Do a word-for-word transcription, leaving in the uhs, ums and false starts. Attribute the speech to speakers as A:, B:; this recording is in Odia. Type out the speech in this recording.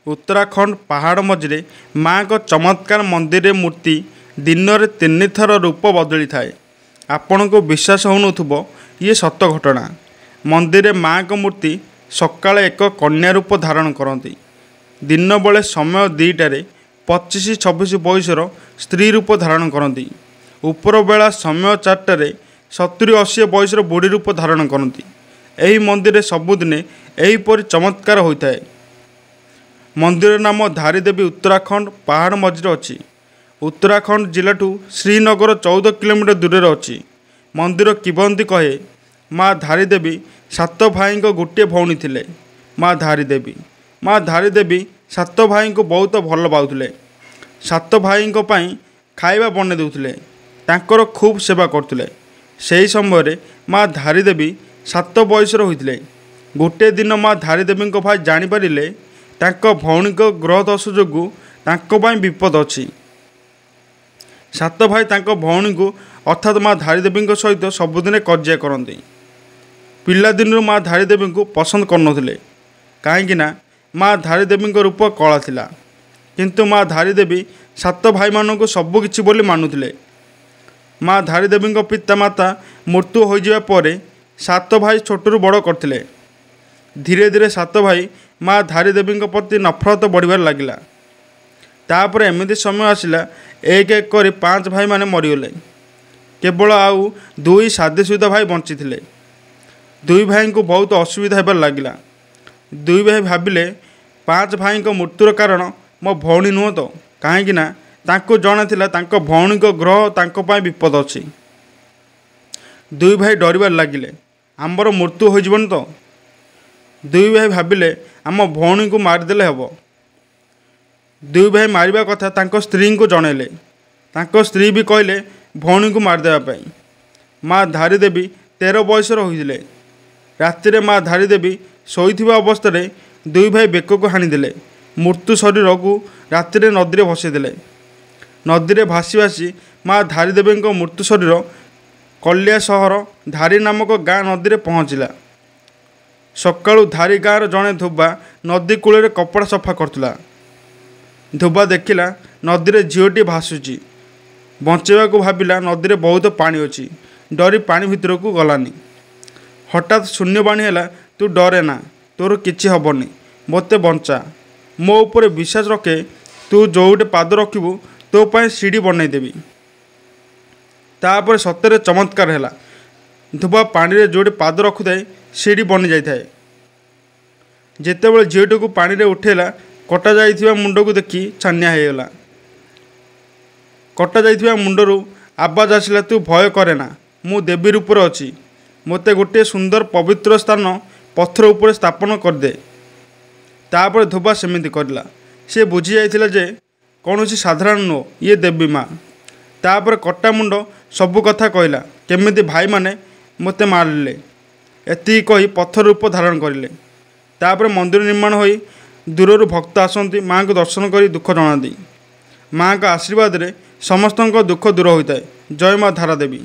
A: ଉତ୍ତରାଖଣ୍ଡ ପାହାଡ଼ ମଝିରେ ମା'ଙ୍କ ଚମତ୍କାର ମନ୍ଦିରରେ ମୂର୍ତ୍ତି ଦିନରେ ତିନିଥର ରୂପ ବଦଳିଥାଏ। ଆପଣଙ୍କୁ ବିଶ୍ୱାସ ହେଉନଥିବ, ଇଏ ସତ ଘଟଣା। ମନ୍ଦିରରେ ମା'ଙ୍କ ମୂର୍ତ୍ତି ସକାଳେ ଏକ କନ୍ୟା ରୂପ ଧାରଣ କରନ୍ତି। ଦିନବେଳେ ସମୟ ଦୁଇଟାରେ ପଚିଶ ଛବିଶ ବୟସର ସ୍ତ୍ରୀ ରୂପ ଧାରଣ କରନ୍ତି। ଉପରବେଳା ସମୟ ଚାରିଟାରେ ସତୁରି ଅଶୀ ବୟସର ବୁଢ଼ୀ ରୂପ ଧାରଣ କରନ୍ତି। ଏହି ମନ୍ଦିରରେ ସବୁଦିନେ ଏହିପରି ଚମତ୍କାର ହୋଇଥାଏ। ମନ୍ଦିରର ନାମ ଧାରୀଦେବୀ ଉତ୍ତରାଖଣ୍ଡ ପାହାଡ଼ ମଝିରେ ଅଛି। ଉତ୍ତରାଖଣ୍ଡ ଜିଲ୍ଲାଠୁ ଶ୍ରୀନଗର ଚଉଦ କିଲୋମିଟର ଦୂରରେ ଅଛି। ମନ୍ଦିର କିମ୍ବଦନ୍ତୀ କହେ, ମା ଧାରୀଦେବୀ ସାତ ଭାଇଙ୍କ ଗୋଟିଏ ଭଉଣୀ ଥିଲେ। ମା ଧାରୀଦେବୀ ମା ଧାରୀଦେବୀ ସାତ ଭାଇଙ୍କୁ ବହୁତ ଭଲ ପାଉଥିଲେ। ସାତ ଭାଇଙ୍କ ପାଇଁ ଖାଇବା ବନେଇ ଦେଉଥିଲେ। ତାଙ୍କର ଖୁବ୍ ସେବା କରୁଥିଲେ। ସେହି ସମୟରେ ମା ଧାରୀଦେବୀ ସାତ ବୟସର ହୋଇଥିଲେ। ଗୋଟିଏ ଦିନ ମା ଧାରୀଦେବୀଙ୍କ ଭାଇ ଜାଣିପାରିଲେ ତାଙ୍କ ଭଉଣୀଙ୍କ ଗ୍ରହ ଦୋଷ ଯୋଗୁଁ ତାଙ୍କ ପାଇଁ ବିପଦ ଅଛି। ସାତ ଭାଇ ତାଙ୍କ ଭଉଣୀଙ୍କୁ ଅର୍ଥାତ୍ ମା ଧାରୀଦେବୀଙ୍କ ସହିତ ସବୁଦିନେ କଜିଆ କରନ୍ତି। ପିଲାଦିନରୁ ମା ଧାରୀଦେବୀଙ୍କୁ ପସନ୍ଦ କରୁନଥିଲେ, କାହିଁକିନା ମା ଧାରୀଦେବୀଙ୍କ ରୂପ କଳା ଥିଲା। କିନ୍ତୁ ମା ଧାରୀଦେବୀ ସାତ ଭାଇମାନଙ୍କୁ ସବୁକିଛି ବୋଲି ମାନୁଥିଲେ। ମା ଧାରୀଦେବୀଙ୍କ ପିତା ମାତା ମୃତ୍ୟୁ ହୋଇଯିବା ପରେ ସାତ ଭାଇ ଛୋଟରୁ ବଡ଼ କରିଥିଲେ। ଧୀରେ ଧୀରେ ସାତ ଭାଇ ମା ଧାରୀଦେବୀଙ୍କ ପ୍ରତି ନଫରତ ବଢ଼ିବାରେ ଲାଗିଲା। ତାପରେ ଏମିତି ସମୟ ଆସିଲା, ଏକ ଏକ କରି ପାଞ୍ଚ ଭାଇମାନେ ମରିଗଲେ। କେବଳ ଆଉ ଦୁଇ ସାଧାସିଧା ଭାଇ ବଞ୍ଚିଥିଲେ। ଦୁଇ ଭାଇଙ୍କୁ ବହୁତ ଅସୁବିଧା ହେବାରେ ଲାଗିଲା। ଦୁଇ ଭାଇ ଭାବିଲେ, ପାଞ୍ଚ ଭାଇଙ୍କ ମୃତ୍ୟୁର କାରଣ ମୋ ଭଉଣୀ ନୁହଁ ତ? କାହିଁକିନା ତାଙ୍କୁ ଜଣାଥିଲା ତାଙ୍କ ଭଉଣୀଙ୍କ ଗ୍ରହ ତାଙ୍କ ପାଇଁ ବିପଦ ଅଛି। ଦୁଇ ଭାଇ ଡରିବାରେ ଲାଗିଲେ, ଆମର ମୃତ୍ୟୁ ହୋଇଯିବନି ତ? ଦୁଇ ଭାଇ ଭାବିଲେ ଆମ ଭଉଣୀଙ୍କୁ ମାରିଦେଲେ ହେବ। ଦୁଇ ଭାଇ ମାରିବା କଥା ତାଙ୍କ ସ୍ତ୍ରୀଙ୍କୁ ଜଣାଇଲେ। ତାଙ୍କ ସ୍ତ୍ରୀ ବି କହିଲେ ଭଉଣୀଙ୍କୁ ମାରିଦେବା ପାଇଁ। ମା ଧାରୀଦେବୀ ତେର ବୟସର ହୋଇଥିଲେ। ରାତିରେ ମା ଧାରୀଦେବୀ ଶୋଇଥିବା ଅବସ୍ଥାରେ ଦୁଇ ଭାଇ ବେକକୁ ହାଣିଦେଲେ। ମୃତ୍ୟୁ ଶରୀରକୁ ରାତିରେ ନଦୀରେ ଭସାଇଦେଲେ। ନଦୀରେ ଭାସି ଭାସି ମା ଧାରୀଦେବୀଙ୍କ ମୃତ୍ୟୁ ଶରୀର କଲିଆ ସହର ଧାରୀ ନାମକ ଗାଁ ନଦୀରେ ପହଞ୍ଚିଲା। ସକାଳୁ ଧାରୀ ଗାଁର ଜଣେ ଧୋବା ନଦୀ କୂଳରେ କପଡ଼ା ସଫା କରୁଥିଲା। ଧୋବା ଦେଖିଲା ନଦୀରେ ଝିଅଟିଏ ଭାସୁଛି। ବଞ୍ଚାଇବାକୁ ଭାବିଲା, ନଦୀରେ ବହୁତ ପାଣି ଅଛି, ଡରି ପାଣି ଭିତରକୁ ଗଲାନି। ହଠାତ୍ ଶୂନ୍ୟବାଣୀ ହେଲା, ତୁ ଡରେ ନା, ତୋର କିଛି ହେବନି, ମୋତେ ବଞ୍ଚା, ମୋ ଉପରେ ବିଶ୍ୱାସ ରଖେ, ତୁ ଯେଉଁଠି ପାଦ ରଖିବୁ ତୋ ପାଇଁ ସିଡ଼ି ବନେଇଦେବି। ତାପରେ ସତରେ ଚମତ୍କାର ହେଲା। ଧୋବା ପାଣିରେ ଯେଉଁଠି ପାଦ ରଖୁଥାଏ ସିଡ଼ି ବନିଯାଇଥାଏ। ଯେତେବେଳେ ଝିଅଟିକୁ ପାଣିରେ ଉଠେଇଲା, କଟା ଯାଇଥିବା ମୁଣ୍ଡକୁ ଦେଖି ଛାନିଆ ହେଇଗଲା। କଟା ଯାଇଥିବା ମୁଣ୍ଡରୁ ଆବାଜ ଆସିଲା, ତୁ ଭୟ କରେ ନା, ମୁଁ ଦେବୀ ରୂପରେ ଅଛି, ମୋତେ ଗୋଟିଏ ସୁନ୍ଦର ପବିତ୍ର ସ୍ଥାନ ପଥର ଉପରେ ସ୍ଥାପନ କରିଦେ। ତାପରେ ଧୋବା ସେମିତି କରିଲା। ସେ ବୁଝି ଯାଇଥିଲା ଯେ କୌଣସି ସାଧାରଣ ନୁହଁ, ଇଏ ଦେବୀ ମା। ତାପରେ କଟା ମୁଣ୍ଡ ସବୁ କଥା କହିଲା, କେମିତି ଭାଇମାନେ ମୋତେ ମାରିଲେ। ଏତିକି କହି ପଥର ରୂପ ଧାରଣ କରିଲେ। ତାପରେ ମନ୍ଦିର ନିର୍ମାଣ ହୋଇ ଦୂରରୁ ଭକ୍ତ ଆସନ୍ତି, ମା'ଙ୍କୁ ଦର୍ଶନ କରି ଦୁଃଖ ଜଣାନ୍ତି। ମା'ଙ୍କ ଆଶୀର୍ବାଦରେ ସମସ୍ତଙ୍କ ଦୁଃଖ ଦୂର ହୋଇଥାଏ। ଜୟ ମା ଧାରାଦେବୀ।